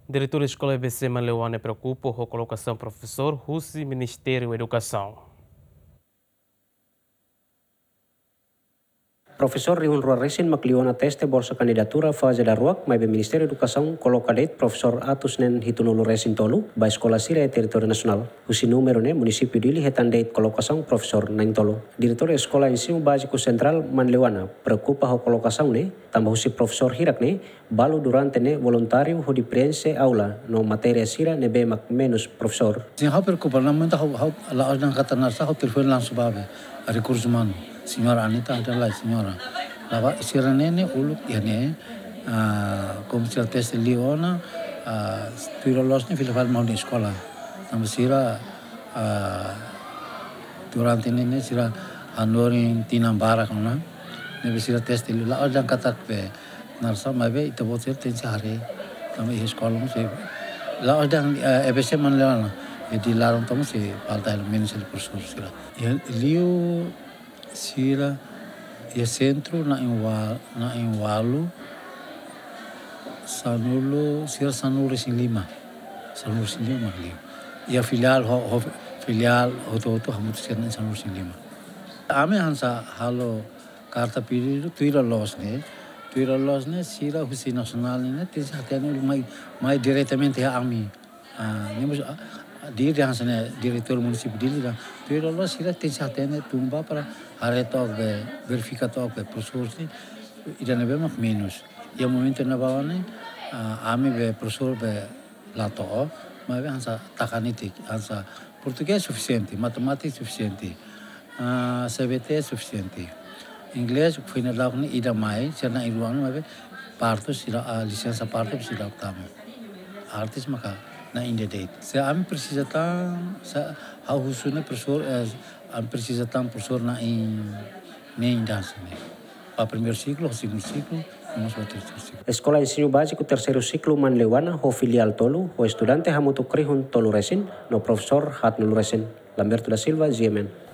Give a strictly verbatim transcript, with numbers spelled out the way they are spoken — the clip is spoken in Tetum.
Diretór Eskola E B C Manleuana preokupa ho kolokasaun profesór husi Ministériu Edukasaun. Profesór rihun rua resin mak liu ona teste bolsa kandidatura faze daruak, maibé Ministériu Edukasaun koloka de'it profesór atus neen hitunulu resin tolu ba eskola sira iha territóriu nasionál. Husi númeru ne'e, munisípiu Dili hetan de'it kolokasaun profesór na'in-tolu. Diretór Eskola Ensinu Báziku Sentrál Manleuana preokupa ho kolokasaun ne'e, tanba husi profesór hirak ne'e, balu durante ne'e voluntáriu hodi preenxe aula no matéria sira ne'ebé mak menus profesór. Sin, ha'u preokupa, no momento ha'u, ha'u la'ós dehan katak naran sá, ha'u telefone langsung ba be, ah, rekursu umanu. Señora Anita, ada lai, señora. La'ós sira ne'e ne'e uluk iha ne'e, ah, komu sira teste liu ona, ah, tuir loloos ne'e fila fali mai ha'u-nia eskola. Tanba sira, ah, durante ne'e ne'e sira hanorin tinan barak ona. Ne'ebé sira teste liu, la'ós dehan katak be naran sá, maibé ita-boot sira tenke haree. Tanba iha eskola mós sei, la'ós dehan, eh, E B C Manleuana, iha Dili laran tomak sei falta hela menus hela profesór sira. Iha liu sira, iha sentru na'in-ua-, na'in-ualu, sanulu, sira sanulu-resin-lima. Sanulu-resin-lima mak liu. Iha filiál ho, ho filiál hotu-hotu hamutuk sira na'in sanulu-resin-lima. Ami hanesan halo karta pedidu tuir loloos ne'e. Tuir loloos ne'e sira husi nasionál ne'e tenke hatene uluk mai, mai diretamente iha ami. Ah, ne'e mós, ah, Dili hanesan ne'e diretór munisípiu Dili dehan, tuir loloos sira tenke hatene tun ba para haree took be, verifika took be profesór sira ida ne'ebé mak menus. Iha momentu ne'ebá ne'e, ah, ami be profesór be la to'o, maibé hanesan taka nitik, hanesan portugés sufisiente, matemátika sufisiente, ah, C B T sufisiente. Inglés, foin daudauk ne'e ida mai, sira na'in-rua ona, maibé partu sira, ah, lisensa partu sira tama. Artes maka na'in de'it. Se ami presiza tan, se ha'u husu ne'e profesór, eh, ami presiza tan profesór na'in, na'in ida hanesan ne'e. Ba primeiru siklu, segundu siklu, no mós ba terseiru siklu. Eskola Ensinu Báziku Terseiru Siklu Manleuana ho filiál tolu, ho estudante hamutuk rihun tolu resin, no profesór haatnulu resin. Lamberto da Silva, G M N.